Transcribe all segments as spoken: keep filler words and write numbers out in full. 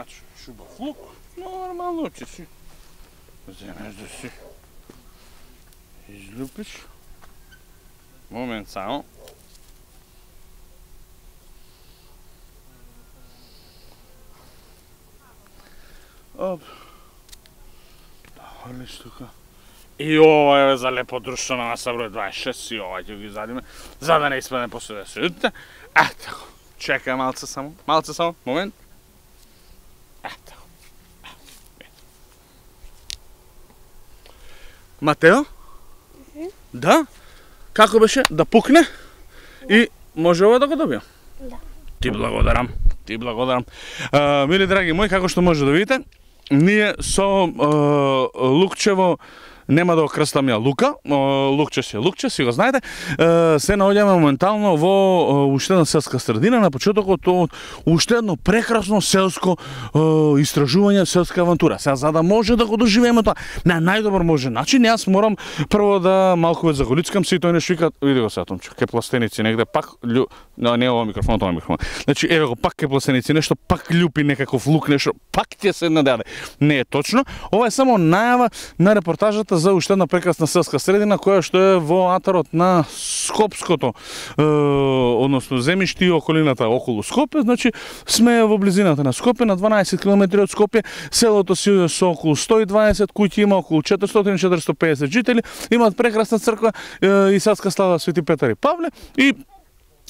Значи, шубав лук, нормално ќе си земеш да си излюпиш. Момент само. Оп. Да хвалиш тука. И ова е за лепо друштво на маса број дваесет и шест и ова ќе ги задиме, за да не испадне после да се јутите. Ето, чекај малце само, малце само, момент. Ето. Матео? Mm-hmm. Да? Како беше? Да пукне? Да. И може ова да го добијам? Да. Ти благодарам, ти благодарам. А, мили драги мои, како што може да видите, ние со а, Лукчево нема да го крстам ја Лука, Лукче си е Лукче, си го знаете. Се наоѓаме моментално во уште една селска средина, на почетокот од уште едно прекрасно селско истражување, селска авантура. Сега, за да може да го доживееме тоа на најдобар можен начин, јас морам прво да малку ве заголицкам, си тој нешто вика, види го сега Томче, ке пластеници негде пак љу... No, не ова микрофон, тоа микрофон. Значи, еве го пак ке пластеници, нешто пак љупи некаков лук, нешто пак ќе се нададе. Не е точно. Ова е само најава на репортажата за уште една прекрасна селска средина која што е во атарот на Скопското, е, односно земјиште и околината околу Скопје. Значи сме во близината на Скопје, на дванаесет километри од Скопје. Селото си е со околу сто и дваесет куќи, има околу четиристотини до четиристотини и педесет жители, имаат прекрасна црква е, и садска слава Свети Петар и Павле и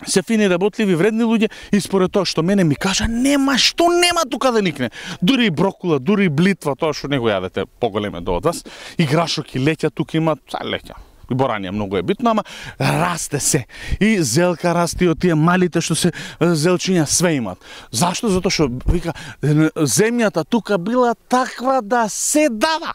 се фини, работливи, вредни луѓе и според тоа што мене ми кажа, нема што нема тука да никне. Дури и брокула, дури и блитва, тоа што не го јадете поголеме до од вас. И грашоки леќа тука има, са леќа. И борање многу е битно, ама расте се. И зелка расте од тие малите што се зелчиња све имат. Зашто? Затоа што вика земјата тука била таква да се дава.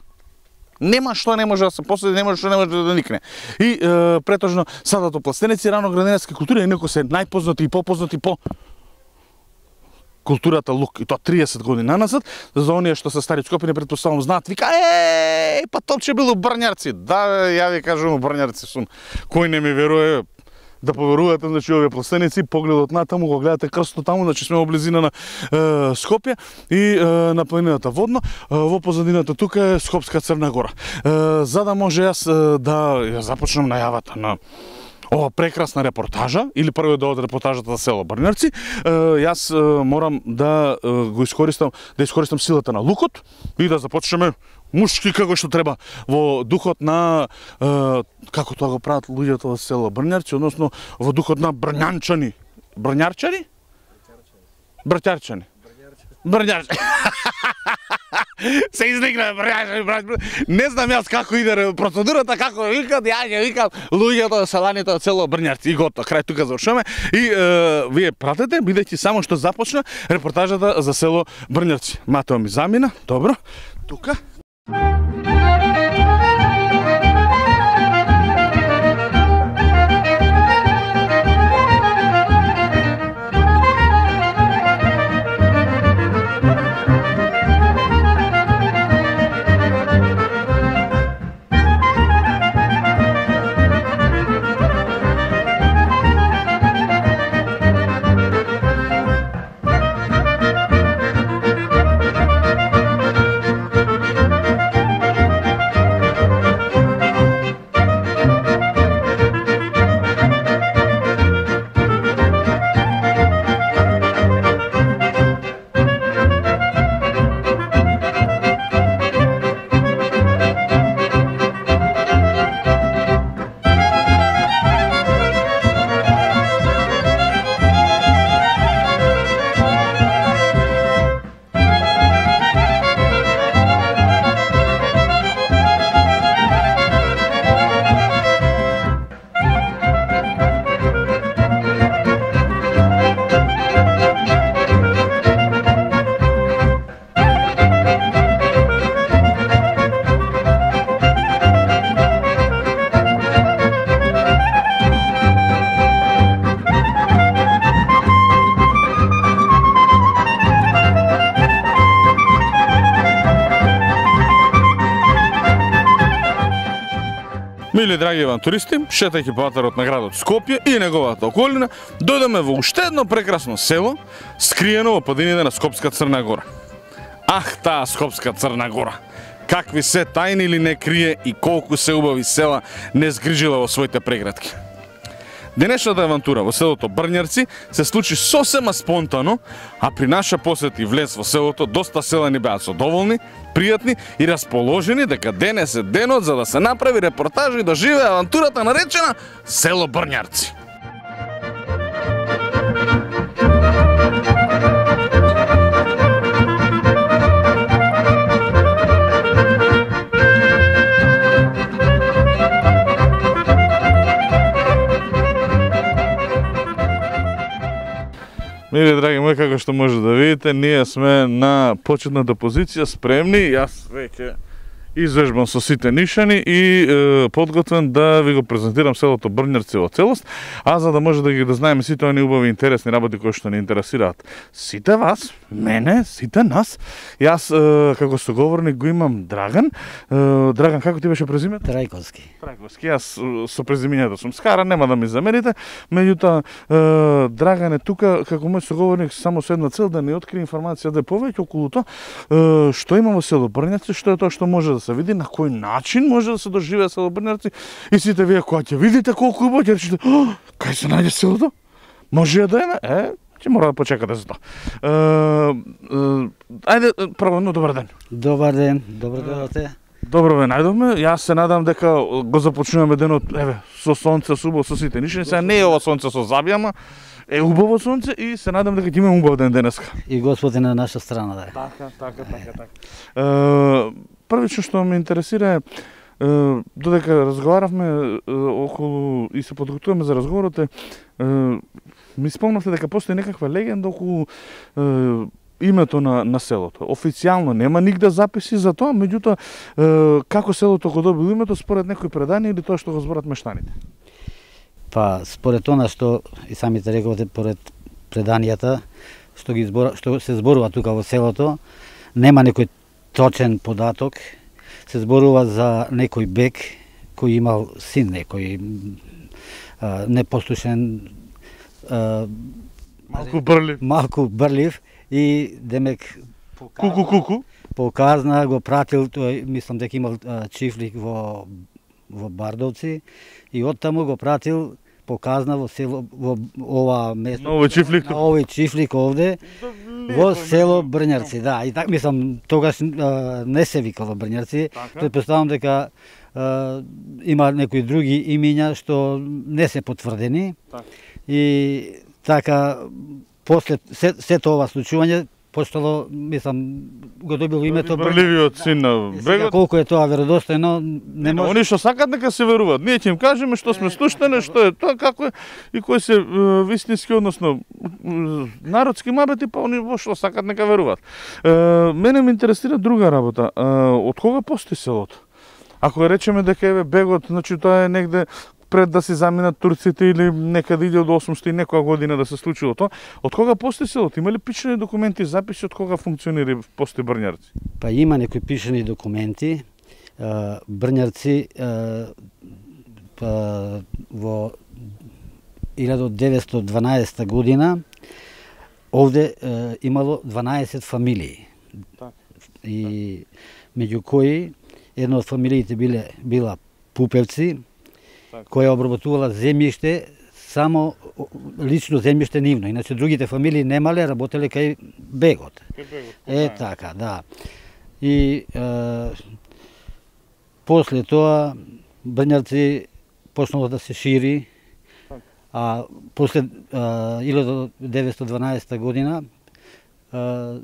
Нема што не може да се последи, нема што не може да никне. И е, претежно садато пластеници, рано градинарски култури, инаку се најпознати и попознати по културата лук. И тоа триесет години назад, за оние што се стари Скопјани претпоставам знаат, вика, еј, па Томче бил у Брњарци. Да, ја ви кажувам у Брњарци сум. Кој не ми верува, да поверувате, значи овие пластеници, погледот натаму, го гледате крстот таму, значи сме во близина на е, Скопје и е, на планината Водно, е, во позадината тука е Скопска Црна Гора. Е, за да може јас е, да ја започнам најавата на ова прекрасна репортажа, или прво да од репортажата за село Брњарци, јас морам да го искористам, да искористам силата на лукот и да започнеме мушки како што треба во духот на како тоа го прават луѓето во село Брњарци, односно во духот на брњанчани. Брњарчани? Брњарчани. Брњарчани. Се изникна брњарчани. Не знам јас како иде процедурата, како викат, ја ќе викам луѓето, селаните од село Брњарци и готово. Крај тука завршуваме и е, вие пратете, бидејќи само што започна репортажата за село Брњарци. Матео ми замина, добро. Тука. Мили драги авантуристи, шетајќи по атарот на градот Скопје и неговата околина, дојдеме во уште едно прекрасно село, скриено во падините на Скопска Црна Гора. Ах, таа Скопска Црна Гора. Какви се тајни ли не крие и колку се убави села не згрижила во своите преградки. Денешната авантура во селото Брњарци се случи сосема спонтано, а при наша посет и влез во селото доста селани беа задоволни, пријатни и расположени дека денес е денот за да се направи репортажа и да живее авантурата наречена Село Брњарци. Мили драги мои, како што може да видите, ние сме на почетната позиција, спремни. Јас веќе извежбам со сите нишани и е, подготвен да ви го презентирам селото Брњарци во целост, а за да може да ги да знаеме сите они убави интересни работи кои што ни интересираат сите вас, мене, сите нас. Јас е, како соговорник го имам Драган. Е, Драган, како ти беше презимето? Трајковски. Трајковски. Јас со презимењето сум скара, нема да ми замерите. Меѓутоа, е, Драган е тука како мој соговорник само со една цел да ни открие информација да е повеќе околу тоа е, што има во село Брњарци, што е тоа што може да се види, на кој начин може да се доживее село Брњарци и сите вие кога ќе видите колку убаво ќе речете, кај се најде селото? Може да е, е, ќе мора да почекате за тоа. Е, е, ајде прво, но добар ден. Добар ден, добро дојдовте. Добро ве најдовме. Јас се надам дека го започнуваме денот, еве, со сонце, со убаво, со сите нишани. Сега не е ова сонце со забијама, е убаво сонце и се надам дека ќе имаме убав ден денеска. И Господ е на наша страна, да е. Така, така, така, така. Е, првично што ме интересира е, додека разговаравме е, околу и се подготвуваме за разговорот е, ми спомнавте дека постои некаква легенда околу е, името на, на селото. Официјално нема нигде записи за тоа, меѓутоа е, како селото го добило името според некои предания или тоа што го зборат мештаните? Па според она што и самите рековте, поред преданијата што ги збора, што се зборува тука во селото, нема некој точен податок. Се зборува за некој бек кој имал син некој а, непослушен, а, малку брлив. Малку брлив и демек Куку куку. Показна го пратил тој, мислам дека имал а, чифлик во во Бардовци и оттаму го пратил показна во село во ова место. На овој чифлик. На овој чифлик овде во село Брњарци, да. И така мислам тогаш а, не се викало Брњарци. Претпоставам дека а, има некои други имиња што не се потврдени. Так. И така после се, сето ова случување постало, мислам, го добило името Брљивиот син на бегот. Колку е тоа веродостојно, не може. Они што сакат нека се веруваат. Ние ќе им кажеме што сме слуштане, што е тоа, како е и кои се вистински, односно народски мабети, па они во што сакат нека веруваат. Е, мене ме интересира друга работа. Е, од кога постои селото? Ако речеме дека е бегот, значи тоа е негде пред да се заминат турците или некаде иде од осумстотини некоја година да се случило тоа. Од кога постои селото? Има ли пишани документи, записи од кога функционира постои Брњарци? Па има некои пишани документи. Брњарци па, во илјада деветстотини и дванаесета година овде имало дванаесет фамилии. Так. И меѓу кои една од фамилиите биле била Пупевци, која обработувала земјиште, само лично земјиште нивно. Иначе другите фамилии немале, работеле кај бегот. Кај бегот. Е, така, да. И е, после тоа Брњарци почнало да се шири, а после илјада деветстотини и дванаесета година е,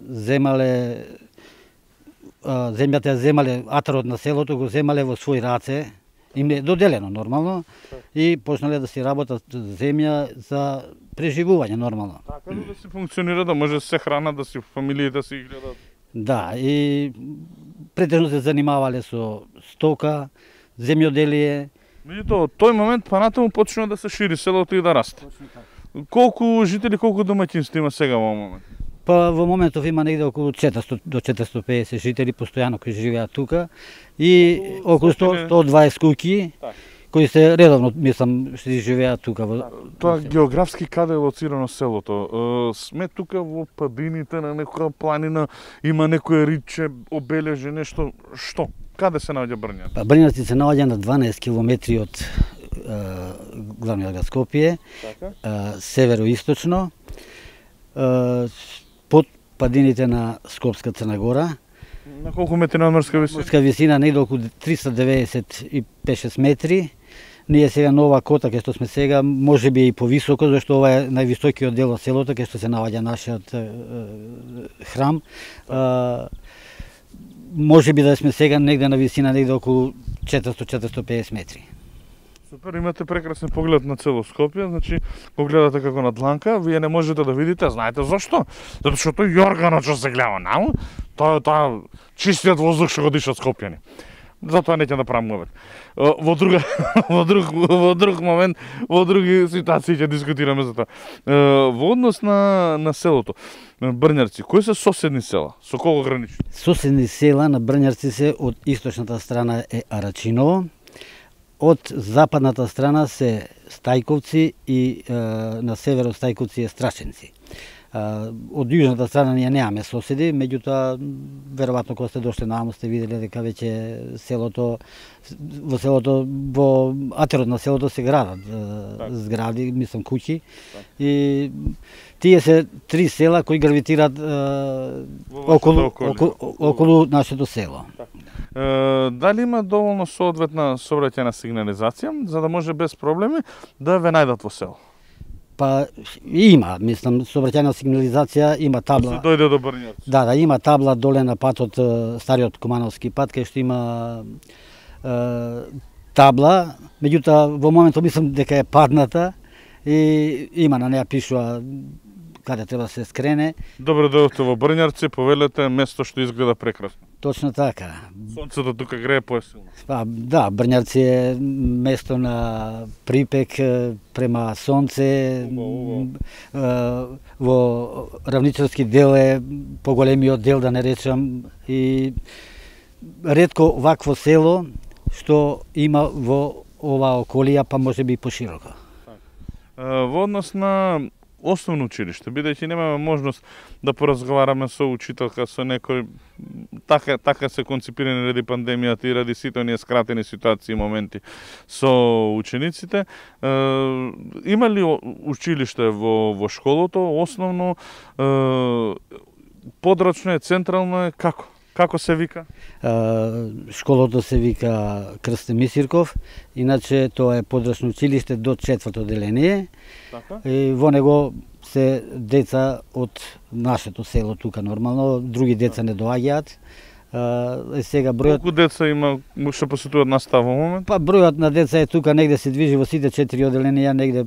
земале земјата ја земале, атарот на селото го земале во своји раце, им е доделено нормално и почнале да си работат земја за преживување нормално. Така да се функционира, да може се храна, да си фамилиите си гледат. Да, и претежно се занимавале со стока, земјоделие. Меѓутоа, од тој момент па натаму почна да се шири селото и да расте. Колку жители, колку домаќинства има сега во момент? Па во моментов има негде околу четиристотини до четиристотини и педесет жители постојано кои живеат тука и околу сто до дваесет куќи кои се редовно, мислам, што живеат тука во. Тоа географски каде е лоцирано селото? Сме тука во падините на некоја планина, има некое риче, обележи нешто, што? Каде се наоѓа Брњарци? Па Брњарци се наоѓа на дванаесет километри од главниот град Скопје, Така? североисточно, под падините на Скопска Црна Гора. На колку метри надморска висина? Морска висина негде околу триста деветдесет и пет-шест метри. Ние сега на ова кота кај што сме сега, може би и повисоко, зашто ова е највисокиот дел од селото кај што се наоѓа нашиот е, е, храм. А, може би да сме сега негде на висина негде околу четиристо до четиристо и педесет метри. Супер, имате прекрасен поглед на цело Скопје, значи го гледате како на дланка, вие не можете да видите, знаете зашто? Затоа што тој јорганот што се гледа наму, тоа тоа чистиот воздух што го дишат скопјани. Затоа неќе да правам мовет. Во друга во друг во друг момент, во други ситуации ќе дискутираме за тоа. Во однос на на селото Брњарци, кои се соседни села? Со кого граничи? Соседни села на Брњарци се од источната страна е Арачиново, од западната страна се Стајковци и е, на север од Стајковци е Страшенци. Од јужната страна ние немаме соседи, меѓутоа веројатно кога сте дошли наму сте виделе дека веќе селото во селото во атерот на селото се градат так. Згради, мислам куќи. Так. И тие се три села кои гравитираат околу околу, околу нашето село. Так. Е, дали има доволно соодветна сообраќајна сигнализација за да може без проблеми да ве најдат во село? Па има, мислам, сообраќајна сигнализација, има табла. Се дојде до Брњарци. Да, да, има табла доле на патот, стариот Кумановски пат, кај што има е, табла, меѓутоа во моментот мислам дека е падната и има на неа пишува каде треба да се скрене. Добро дојдовте во Брњарци, повелете место што изгледа прекрасно. Точно така. Сонцето тука грее поесилно. Па, да, Брњарци е место на припек према сонце. Убаво, убаво. Во равничарски дел е поголемиот дел, да не речам, и ретко вакво село што има во оваа околија, па може би и пошироко. Во однос на основно училиште, бидејќи немаме можност да поразговараме со учителка, со некој, така, така се конципирани ради пандемијата и ради сите оние скратени ситуации и моменти со учениците. Е, има ли училиште во, во школото, основно, е, подрачно е, централно е, како? Како се вика? Uh, школото се вика Крсте Мисирков, иначе тоа е подрачно училиште до четврто деление. Така? И во него се деца од нашето село тука нормално, други деца не доаѓаат. Uh, сега бројот... Колку деца има што посетуваат настава во момент? Па бројот на деца е тука негде се движи во сите четири оделенија, негде,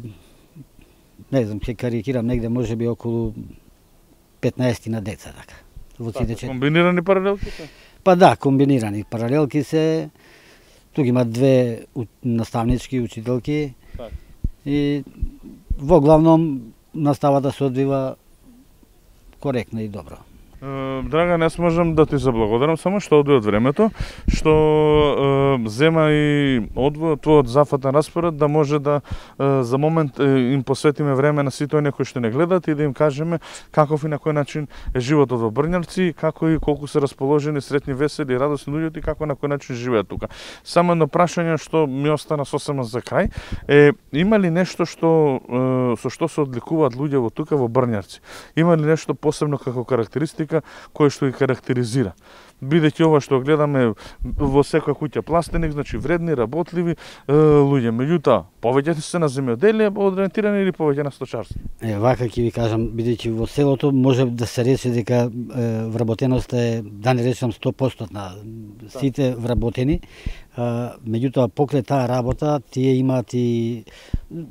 не знам, ќе карикирам, негде може би околу петнаесет на деца така. Во сите четири. Комбинирани паралелки? Па да, комбинирани паралелки се. Тука има две наставнички учителки. Так. И во главном наставата се одвива коректно и добро. Драган, јас можам да ти заблагодарам само што одвои од времето, што е, зема и одвој од твојот зафатен распоред да може да е, за момент е, им посветиме време на сите оние кои што не гледат и да им кажеме каков и на кој начин е животот во Брњарци, како и колку се расположени, сретни, весели и радосни луѓето и како на кој начин живеат тука. Само едно прашање што ми остана сосема за крај е, има ли нешто што е, со што се одликуваат луѓе во тука во Брњарци? Има ли нешто посебно како карактеристика кој што ги карактеризира? Бидејќи ова што гледаме во секоја куќа пластеник, значи вредни, работливи е, луѓе. Меѓутоа, повеќе се на земјоделие ориентирани или повеќе на сточарство? Е, вака ќе ви кажам, бидејќи во селото може да се рече дека е, вработеноста е, да не речам сто проценти на сите вработени. Меѓутоа, покрај таа работа, тие имаат и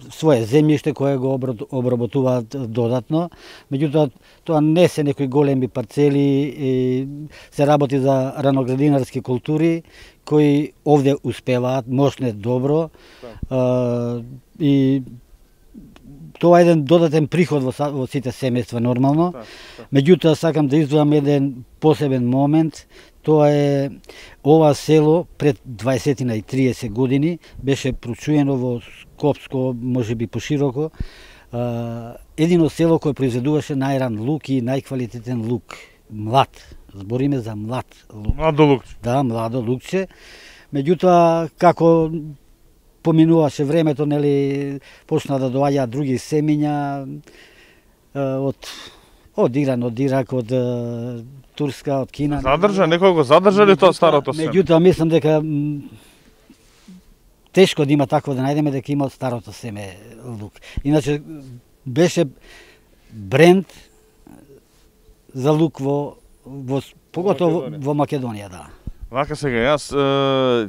свое земјиште кое го обработуваат додатно. Меѓутоа, тоа не се некои големи парцели, и се работи за раноградинарски култури, кои овде успеваат, мощне добро. А, и тоа е еден додатен приход во, во сите семејства нормално. Меѓутоа, сакам да издвојам еден посебен момент. Тоа е ова село пред дваесет и триесет години беше прочуено во Скопско, можеби пошироко, едино село кое произведуваше најран лук и најквалитетен лук, млад. Збориме за млад лук. Младо лукче. Да, младо лукче. Меѓутоа, како поминуваше времето, нели, почна да доаѓаат други семиња од од Иран, од Ирак, од Турска, од Кина. Задржа, некој го задржа ли тоа старото семе? Меѓутоа, мислам дека тешко да има такво да најдеме дека има од старото семе лук. Иначе беше бренд за лук во, во поготово во, во Македонија, да. Вака сега, јас е,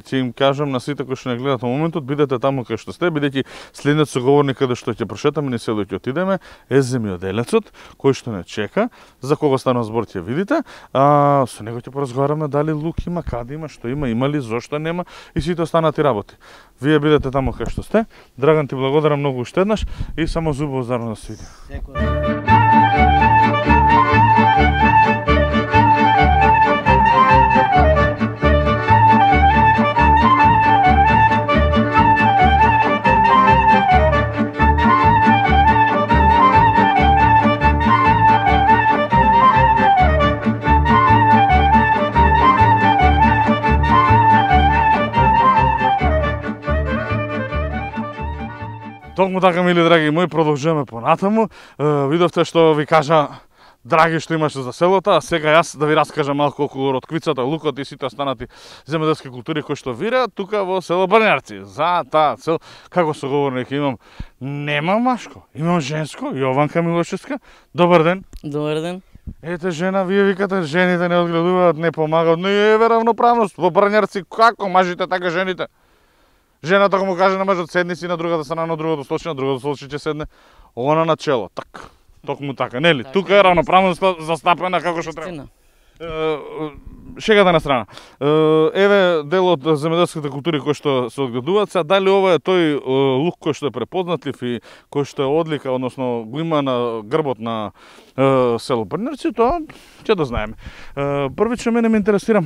ќе им кажам на сите кои што не гледат во моментот, бидете таму кај што сте, бидејќи следниот соговорник каде што ќе прошетаме низ село ќе отидеме е земјоделецот, кој што не чека, за кого станува збор ќе видите, а со него ќе поразговараме дали лук има, каде има, што има, има ли, зошто нема и сите останати работи. Вие бидете таму кај што сте. Драган, ти благодарам многу уште еднаш и само зубово зарно да се видиме. Толку така, мили драги мои, продолжуваме понатаму. Видовте што ви кажа драги што имаше за селото, а сега јас да ви раскажам малку околу ротквицата, лукот и сите останати земјоделски култури кои што вираат тука во село Брњарци. За таа цел, како соговорник имам, нема машко, имам женско, Јованка Милошевска. Добар ден. Добар ден. Ете жена, вие викате жените не одгледуваат, не помагаат, не е равноправност во Брњарци, како мажите така жените? Жената го му каже на мажот седни си, на другата страна, на другото случај, на другото случај ќе седне, она на чело, так. Токму така, нели? Така, тука е равноправност застапена како што треба. Шегата на страна. Еве дел од земјоделските култури кои што се одгледуваат, сега дали ова е тој лук кој што е препознатлив и кој што е одлика, односно го има на грбот на село Брњарци, тоа ќе да знаеме. Првично мене ме интересира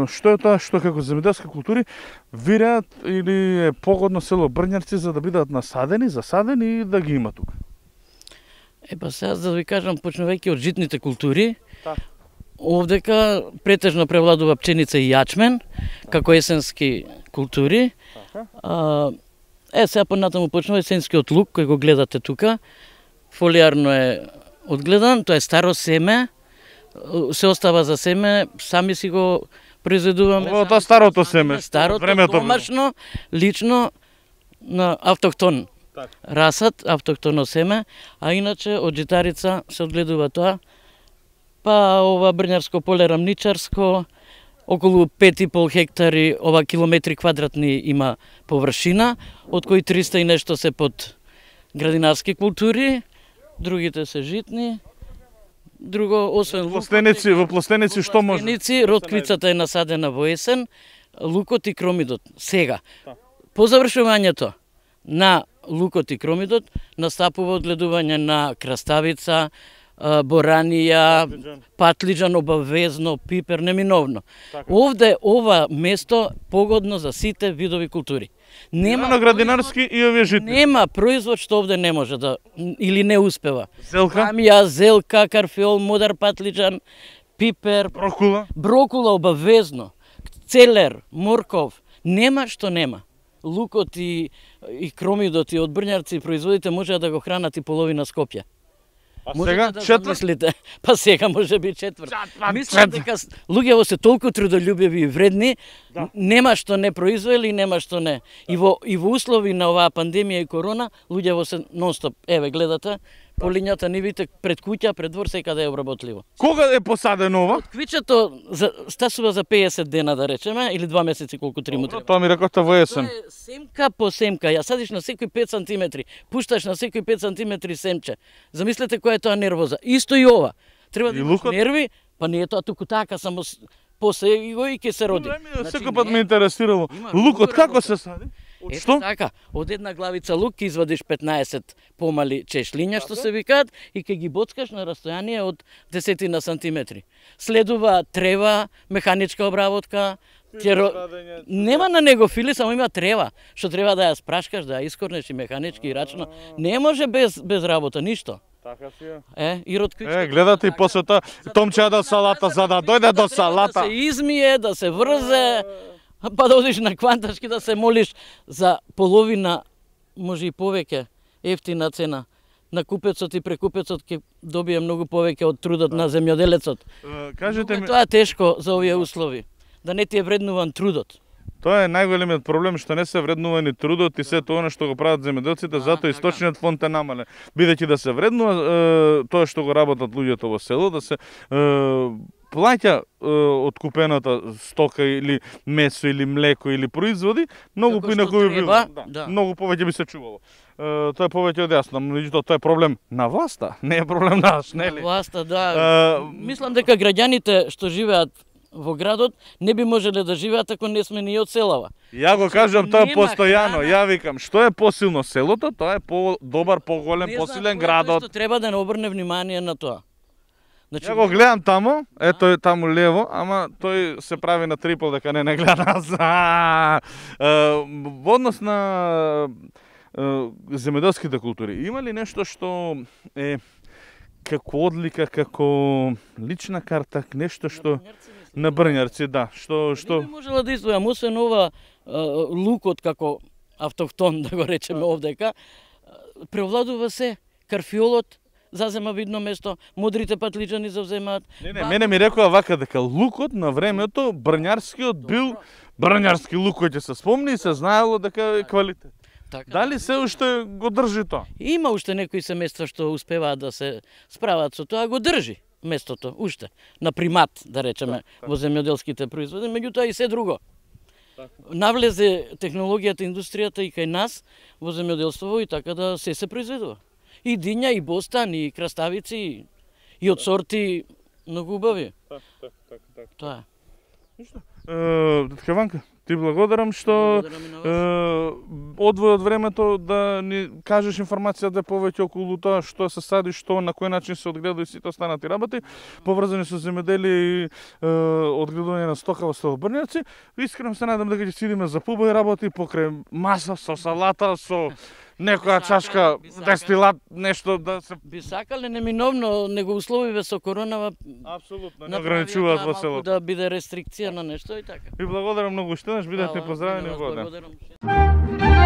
што е тоа што како земјоделски култури вираат или е погодно село Брњарци за да бидат насадени, засадени и да ги има тука. Е па сега за да ви кажам, почнувајќи од житните култури, Так. овдека претежно превладува пченица и јачмен, како есенски култури. А, е, сега понатаму почнува есенскиот лук, кој го гледате тука. Фолиарно е одгледан, тоа е старо семе, се остава за семе, сами си го произведуваме. Ова тоа старото семе, Старото, времето домашно, лично, на автохтон. Так. Расат, автохтоно семе, а иначе од житарица се одгледува тоа. Па ова Брњарско поле рамничарско, околу пет и пол хектари, ова километри квадратни има површина, од кои триста и нешто се под градинарски култури, другите се житни. Друго, освен лукот... Пластеници, во пластеници што може? Пластеници, ротквицата е насадена во есен, лукот и кромидот. Сега, по завршувањето на лукот и кромидот, настапува одгледување на краставица, боранија, патлиџан, патлиџан обавезно, пипер, неминовно. Така. Овде ова место погодно за сите видови култури. Нема на градинарски и овие житни. Нема производ што овде не може да или не успева. Зелка, Камија, зелка, карфиол, модар патлиџан, пипер, брокула. брокула обавезно, целер, морков, нема што нема. Лукот и, и кромидот и од Брњарци производите може да го хранат и половина Скопје. А Можете сега да четврт? замислите. Па сега може би четврт. па Мислам четврт. дека луѓето се толку трудолюбиви и вредни, Да. нема што не произвели, нема што не. И во и во услови на оваа пандемија и корона, луѓето се нонстоп, еве гледате, полињата нивите пред куќа, пред двор, секаде е обработливо. Кога е посадено ова? Квичето за, стасува за пеесет дена, да речеме, или два месеци колку три му треба. Тоа ми рекоте во есен. Тоа е семка по семка. Ја садиш на секој пет сантиметри, пушташ на секој пет сантиметри семче. Замислете која е тоа нервоза. Исто и ова. Треба да И имаш лукот? нерви, па не е тоа туку така, само с- после и го и ќе се роди. Еми, Значи, Секој пат не, ме интересирало. Има Лукот многу како работа. се сади? Од Ето што? така, од една главица лук ќе извадиш петнаесет помали чешлиња, што се викаат, и ќе ги боцкаш на растојание од десетина сантиметри. Следува трева, механичка обработка, Теро... Нема на него фили, само има трева, што треба да ја спрашкаш, да ја искорнеш и механички и рачно. Не може без без работа ништо. Така си е. Е, и ротквичка. Е, гледате и после тоа Томче до салата за да дојде до салата. Да се измие, да се врзе, па да одиш на кванташки да се молиш за половина, може и повеќе, ефтина цена. На купецот и прекупецот ќе добие многу повеќе од трудот на земјоделецот. Кажете ми, Тоа е тешко за овие услови. Да не ти е вреднуван трудот. тоа е најголемиот проблем што не се вреднува ни трудот и сето она што го прават земјоделците, затоа источниот фонд е намален. Бидејќи да се вреднува е, тоа што го работат луѓето во село, да се е, плаќа е, откупената стока или месо или млеко или производи, многу Како поинаку што би било. треба, Да, да. многу повеќе би се чувало. Е, тоа е повеќе од јасно, меѓутоа тоа е проблем на власта, не е проблем наш, нели? Власта, да. Е, Мислам дека граѓаните што живеат во градот не би можеле да живеат ако не сме ние од селава. Ја го кажам тоа Нема постојано, храна. ја викам, што е посилно селото, тоа е по-добар, поголем, Не знам посилен кој е тој градот. Што треба да не обрне внимание на тоа. Значи, Ја го гледам таму, ето е таму лево, ама тој се прави на трипл дека не не гледа нас. А, е, Во однос на е, земјоделските култури, има ли нешто што е како одлика, како лична карта, нешто што на брњарци, да, што што Не би можела да издвојам, освен ова е, лукот како автохтон, да го речеме овдека, е, преовладува се карфиолот, зазема видно место, модрите патлиџани завземаат. Не, не, мене ми рекоа вака дека лукот на времето, брњарскиот бил брњарски лук кој ќе се спомни и се знаело дека е квалитет. Така. Дали се уште го држи тоа? Има уште некои семејства што успеваат да се справат со тоа, го држи местото уште на примат, да речеме, во земјоделските производи, меѓутоа и се друго. Навлезе технологијата, индустријата и кај нас во земјоделство и така да се се произведува. И диња, и бостан, и краставици, и, и од сорти многу убави. Так, так, так, так. Тоа е. Е, Детка Ванка, ти благодарам што Благодарам и на вас. е, одвој од времето да ни кажеш информацијата повеќе околу тоа што се сади, што на кој начин се одгледа и сите останати работи, поврзани со земјоделие и е, одгледување на стока во село Брњарци. Искрено се надам дека ќе си идеме за побои работи покрај маса со салата, со некоја чашка би сакале. дестилат, нешто да се Би сакале неминовно, него условиве со коронава апсолутно не направија ограничуваат тоа во малку селото. да биде рестрикција на нешто и така. Ви благодарам многу уште еднаш, бидете Фала, поздравени и на во вас ден. благодарам.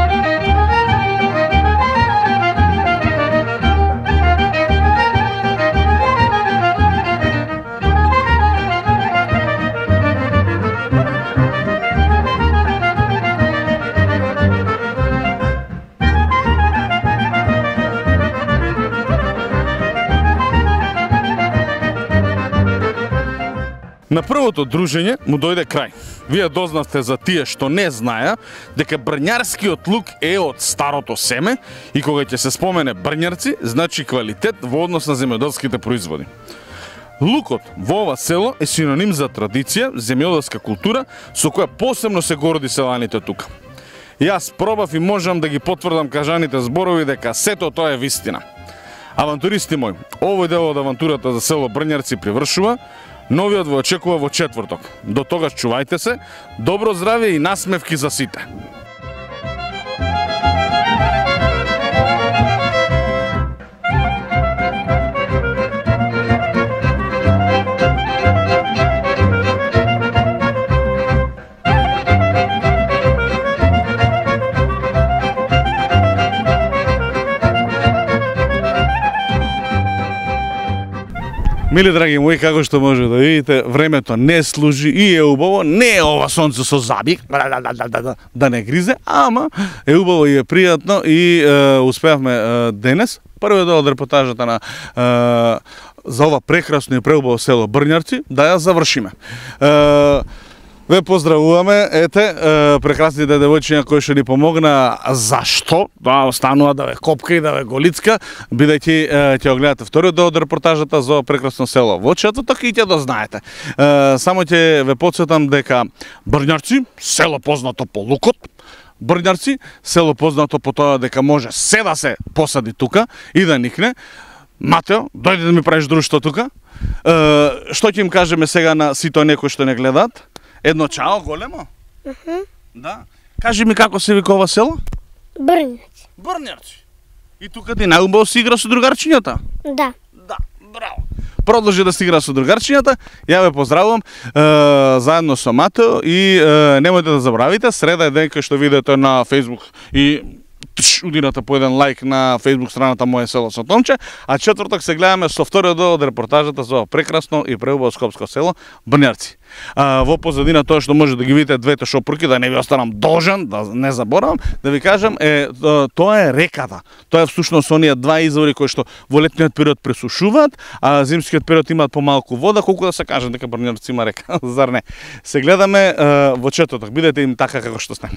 На првото дружење му дојде крај. Вие дознавте за тие што не знаеа дека брњарскиот лук е од старото семе и кога ќе се спомене брњарци, значи квалитет во однос на земјоделските производи. Лукот во ова село е синоним за традиција, земјоделска култура со која посебно се горди селаните тука. Јас пробав и можам да ги потврдам кажаните зборови дека сето тоа е вистина. Авантуристи мои, овој дел од авантурата за село Брњарци привршува. Новиот во очекува во четврток. До тогаш чувајте се, добро здравје и насмевки за сите. Мили драги мои, како што може да видите, времето не служи и е убаво, не е ова сонце со забик, да не гризе, ама е убаво и е пријатно и е, успеавме е, денес, првиот дел од репортажата на е, за ова прекрасно и преубаво село Брњарци, да ја завршиме. Е, Ве поздравуваме, ете, е, прекрасните девојчиња кои што ни помогна. Зашто? Да останува да ве копка и да ве голицка, бидејќи е, ќе го гледате вториот дел од репортажата за прекрасно село во четврток и ќе да знаете. Е, само ќе ве потсетам дека Брњарци, село познато по лукот, Брњарци, село познато по тоа дека може се да се посади тука и да никне. Матео, дојди да ми правиш друштво тука. Е, што ќе им кажеме сега на сите некои што не гледаат? Едно чао големо? Uh -huh. Да. Кажи ми како се вика ова село? Брњарци. Брњарци. И тука ти најубаво си игра со другарчињата? Да. Да, браво. Продолжи да си игра со другарчињата. Ја ве поздравувам е, заедно со Матео и е, немојте да забравите, среда е ден кај што видеото на Facebook и тш, удирате по еден лайк на Facebook страната Моје село со Томче, а четврток се гледаме со вториот дел од репортажата за ова прекрасно и преубаво скопско село Брњарци. А, во позадина тоа што може да ги видите двете шопурки, да не ви останам должен, да не заборавам, да ви кажам, е, тоа е реката. Тоа е всушност оние два извори кои што во летниот период пресушуваат, а зимскиот период имаат помалку вода, колку да се каже дека Брњарци има река, зар не? Се гледаме е, во четврток, бидете им така како што сте.